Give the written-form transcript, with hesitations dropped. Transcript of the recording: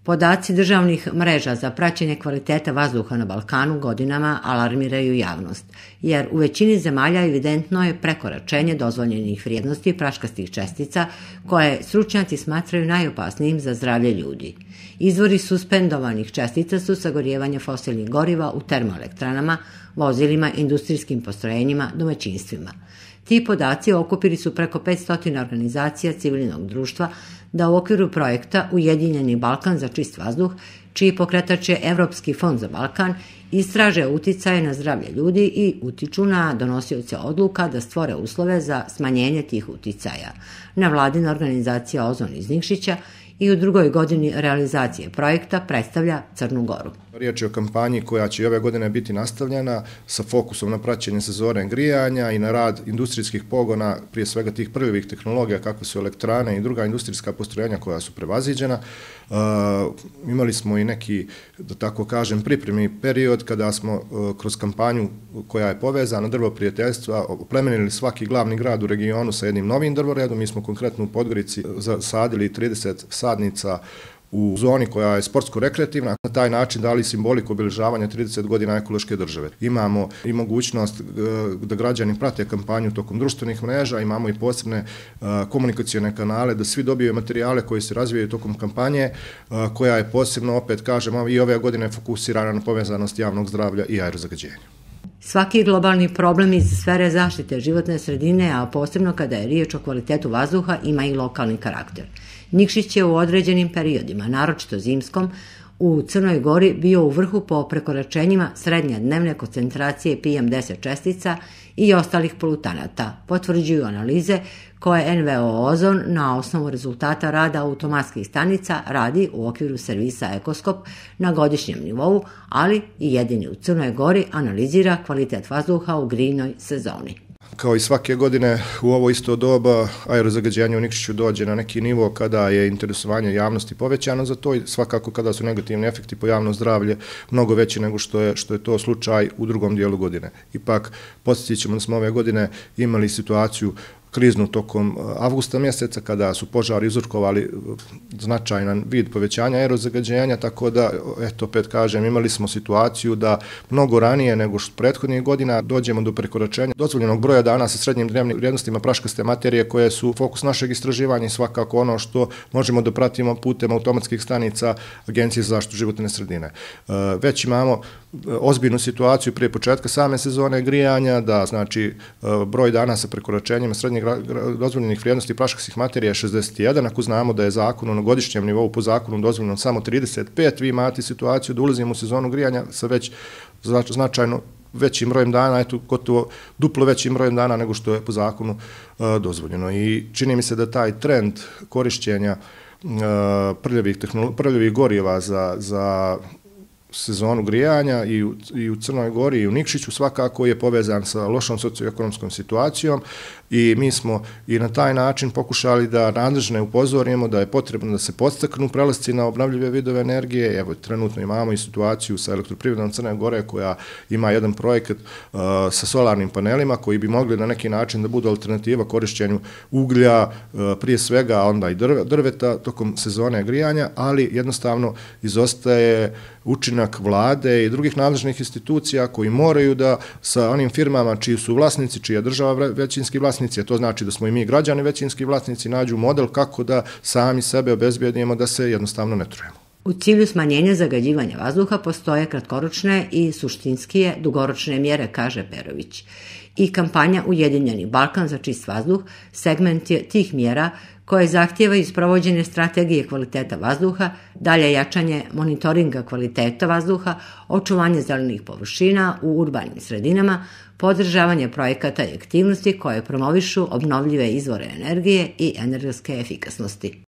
Podaci državnih mreža za praćenje kvaliteta vazduha na Balkanu godinama alarmiraju javnost, jer u većini zemalja evidentno je prekoračenje dozvoljenih vrijednosti praškastih čestica koje stručnjaci smatraju najopasnijim za zdravlje ljudi. Izvori suspendovanih čestica su sagorijevanje fosilnih goriva u termoelektranama, vozilima, industrijskim postrojenjima, domaćinstvima. Ti podaci okupili su preko 500 organizacija civilnog društva da u okviru projekta Ujedinjeni Balkan za čist vazduh, čiji pokretač je Evropski fond za Balkan, istraže uticaje na zdravlje ljudi i utiču na donosioce odluka da stvore uslove za smanjenje tih uticaja. Nevladina organizacija Ozon iz Nikšića i u drugoj godini realizacije projekta predstavlja Crnu Goru. Riječ je o kampanji koja će ove godine biti nastavljena sa fokusom na praćenje sezone grijanja i na rad industrijskih pogona, prije svega tih prvih tehnologija kakve su elektrane i druga industrijska postrojenja koja su prevaziđena. Imali smo i neki, da tako kažem, pripremni period kada smo kroz kampanju koja je povezana drvo prijateljstva oplemenili svaki glavni grad u regionu sa jednim novim drvoredom. Mi smo konkretno u Podgorici zasadili 30 sadnica u zoni koja je sportsko-rekreativna, na taj način dali simboliku obilježavanja 30 godina ekološke države. Imamo i mogućnost da građani prate kampanju tokom društvenih mreža, imamo i posebne komunikacione kanale da svi dobiju materijale koji se razvijaju tokom kampanje, koja je posebno, opet kažemo, i ove godine fokusirana na povezanost javnog zdravlja i aerozagađenja. Svaki globalni problem iz sfere zaštite životne sredine, a posebno kada je riječ o kvalitetu vazduha, ima i lokalni karakter. Nikšić je u određenim periodima, naročito zimskom, u Crnoj Gori bio u vrhu po prekoračenjima srednje dnevne koncentracije PM10 čestica i ostalih polutanata, potvrđuju analize koje NVO Ozon na osnovu rezultata rada automatskih stanica radi u okviru servisa Ekoskop na godišnjem nivou, ali i jedini u Crnoj Gori analizira kvalitet vazduha u grijnoj sezoni. Kao i svake godine u ovo isto doba aerozagađenje u Nikšiću dođe na neki nivo kada je interesovanje javnosti povećano za to i svakako kada su negativni efekti po javno zdravlje mnogo veći nego što je to slučaj u drugom dijelu godine. Ipak podsjetit ćemo da smo ove godine imali situaciju kriznu tokom avgusta mjeseca kada su požari uzrokovali značajan vid povećanja aerozagađenja, tako da, eto, opet kažem, imali smo situaciju da mnogo ranije nego što prethodnih godina dođemo do prekoračenja dozvoljenog broja dana sa srednjim dnevnim vrijednostima praškaste materije koje su fokus našeg istraživanja i svakako ono što možemo da pratimo putem automatskih stanica Agencije za zaštitu životne sredine. Već imamo ozbiljnu situaciju prije početka same sezone grijanja, da znači broj dana sa prekoračenjima srednjeg dozvoljenih vrijednosti praškastih materija je 61, ako znamo da je zakonu na godišnjem nivou po zakonu dozvoljeno samo 35, vi imate situaciju da ulazimo u sezonu grijanja sa već značajno većim brojem dana, eto gotovo duplo većim brojem dana nego što je po zakonu dozvoljeno. I čini mi se da taj trend korišćenja prljavih goriva za sezonu grijanja i u Crnoj Gori i u Nikšiću svakako je povezan sa lošom socioekonomskom situacijom i mi smo i na taj način pokušali da nadležne upozorimo da je potrebno da se podstaknu prelasci na obnovljive vidove energije. Evo, trenutno imamo i situaciju sa Elektroprivredom Crne Gore koja ima jedan projekat sa solarnim panelima koji bi mogli na neki način da budu alternativa korišćenju uglja, prije svega onda i drveta tokom sezone grijanja, ali jednostavno izostaje učinak vlade i drugih nadležnih institucija koji moraju da sa onim firmama čiji su vlasnici, čija država većinski vlasnici, a to znači da smo i mi građani većinski vlasnici, nađu model kako da sami sebe obezbedimo da se jednostavno ne trujemo. U cilju smanjenja zagađivanja vazduha postoje kratkoročne i suštinskije dugoročne mjere, kaže Perović. I kampanja Ujedinjeni Balkan za čist vazduh segment je tih mjera koje zahtijevaju sprovođenje strategije kvaliteta vazduha, dalje jačanje monitoringa kvaliteta vazduha, očuvanje zelenih površina u urbanim sredinama, podržavanje projekata i aktivnosti koje promovišu obnovljive izvore energije i energetske efikasnosti.